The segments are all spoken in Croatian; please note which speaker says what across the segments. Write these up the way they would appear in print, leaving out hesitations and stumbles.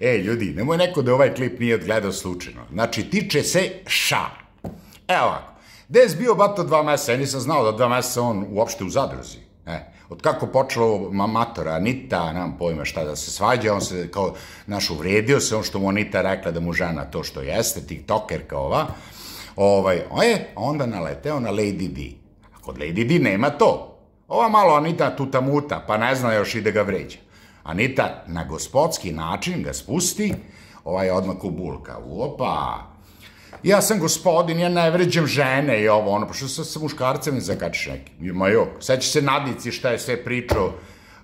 Speaker 1: Ljudi, nemoj neko da ovaj klip nije odgledao slučajno. Znači, tiče se ša. Evo ovako. Gde je bio bato 2 meseca? Ja nisam znao da 2 meseca on uopšte u zadruzi. Od kako počelo matora Anita, nemam pojma šta da se svađa, on se kao, uvredio se, on što mu Anita rekla da mu žena to što jeste, tiktokerka ova, onda naleteo na Lady D. A kod Lady D nema to. Ova malo Anita tuta muta, pa ne zna još i da ga vređa. Anita na gospodski način ga spusti, odmah u bulka. Opa, ja sam gospodin, ja ne vređam žene i ovo, pa što sa muškarcem ne zakačiš neki? Seća se Nadici šta je sve pričao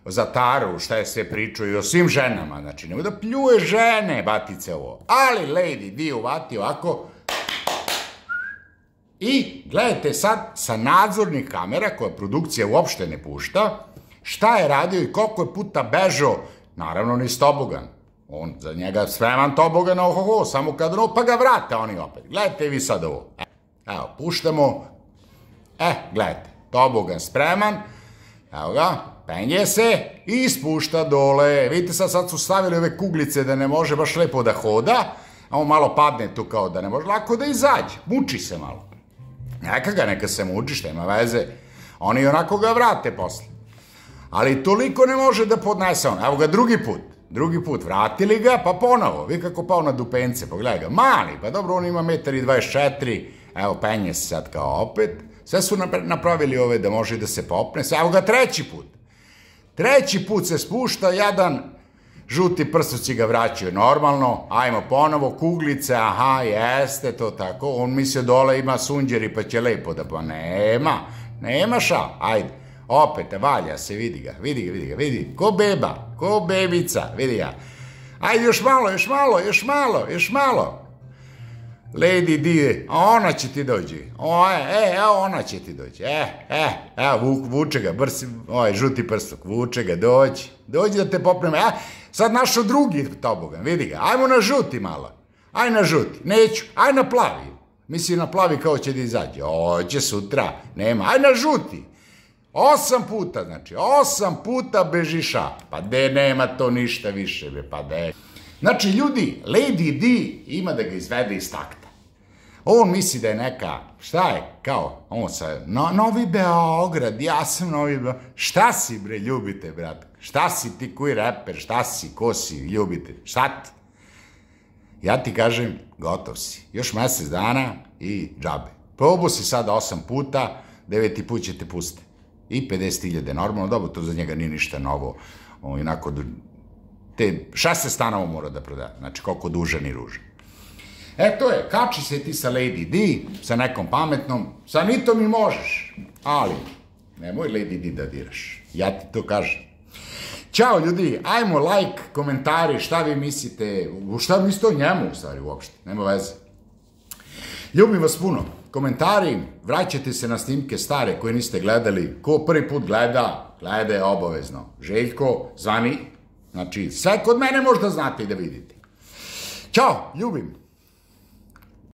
Speaker 1: za Taru, šta je sve pričao i o svim ženama, znači nemoj da pljuje žene, batice ovo. Ali Lady D uvati ovako i gledajte sad sa nadzornih kamera, koja produkcija uopšte ne pušta, šta je radio i koliko je puta bežao, naravno ni tobogan. On za njega spreman tobogan, samo kad pa ga vrate oni opet. Gledajte vi sad ovo. Evo, puštamo. Gledajte, tobogan spreman. Evo ga, penje se i spušta dole. Vidite sad su stavili ove kuglice da ne može baš lepo da hoda, a on malo padne tu kao da ne može lako da izađe. Muči se malo. Neka se muči, šta ima veze. Oni onako ga vrate posle. Ali toliko ne može da podnese on. Evo ga drugi put vratili ga, pa ponovo, vi kako pao na dupence, pogledaj ga, mali, pa dobro, on ima 1,24 m, evo, penje se sad kao opet, sve su napravili ove da može da se popne, evo ga treći put se spušta, jedan žuti prstoci ga vraćaju normalno, ajmo ponovo, kuglice, aha, jeste, to tako, on misle dole ima sunđeri pa će lepo da, pa nema ša, ajde. Opet, valja se, vidi ga, ko beba, ko bebica, vidi ga. Ajde, još malo. Lady D, ona će ti dođi, ona će ti dođi, vuče ga, žuti prstok, vuče ga, dođi da te popneme, sad našo drugi tobogan, vidi ga, ajmo na žuti malo, aj na žuti, neću, aj na plavi, misli na plavi kao će da izađe, oće sutra, nema, aj na žuti. 8 puta bežiša, pa de nema to ništa više, pa de. Znači, ljudi, Lady D ima da ga izvede iz takta. On misli da je neka, šta je, kao, on sa, Novi Beograd, ja sam Novi Beograd, šta si bre, ljubite, brat, šta si ti koji reper, šta si, ko si, ljubite, šta ti? Ja ti kažem, gotov si, još mesec dana i džabe. Probao si sada 8 puta, 9. put će te pustiti. I 50.000, normalno, dobro, to za njega nije ništa novo, onako, te 6 stanova mora da proda, znači koliko dužan i ružan. To je, kači se ti sa Lady D, sa nekom pametnom, sa Anitom i možeš, ali nemoj Lady D da diraš, ja ti to kažem. Ćao ljudi, ajmo like, komentari, šta vi mislite, šta mislite o njemu u stvari uopšte, nema veze. Ljubim vas puno. Komentari, vraćajte se na snimke stare koje niste gledali. Ko prvi put gleda, gledaj obavezno. Željko, zvani, znači sve kod mene možda znate i da vidite. Ćao, ljubim.